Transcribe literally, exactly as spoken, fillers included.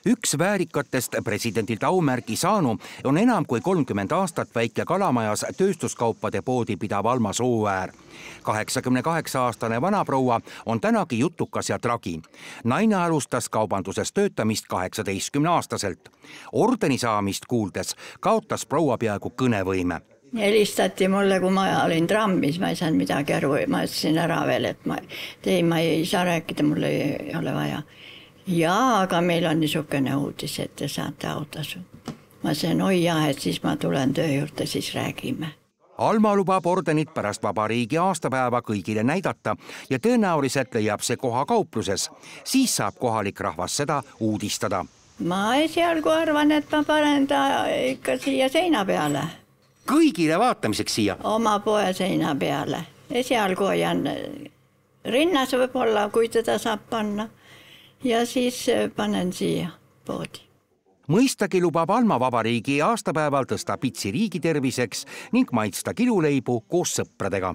Üks väärikatest presidendilt aumärgi saanu on enam kui kolmkümmend aastat väike kalamajas tööstuskaupade poodi pidav Alma Sooäär. kaheksakümne kaheksa aastane vanaproua on tänagi jutukas ja tragi. Naine alustas kaubanduses töötamist kaheksateistkümne aastaselt. Ordeni saamist kuuldes kaotas proua peaaegu kõnevõime. Helistati mulle, kui ma olin trammis, ma ei saanud midagi aru, ma ütlesin ära veel, et ma, ei, ma ei saa rääkida, mulle ei ole vaja. Jaa, aga meil on niisugune uudis, et te saate autasu. Ma sain, oi jah, et siis ma tulen töö juurde, siis räägime. Alma lubab ordenit pärast vabariigi aastapäeva kõigile näidata ja tõenäoliselt leiab see koha kaupluses. Siis saab kohalik rahvas seda uudistada. Ma esialgu arvan, et ma panen ta ikka siia seina peale. Kõigile vaatamiseks siia? Oma poe seina peale. Esialgu hoian rinnas võib-olla, kui teda saab panna. Ja siis panen siia poodi. Mõistagi lubab Alma vabariigi aastapäeval tõsta pitsi riigi terviseks ning maitsta kiluleibu koos sõpradega.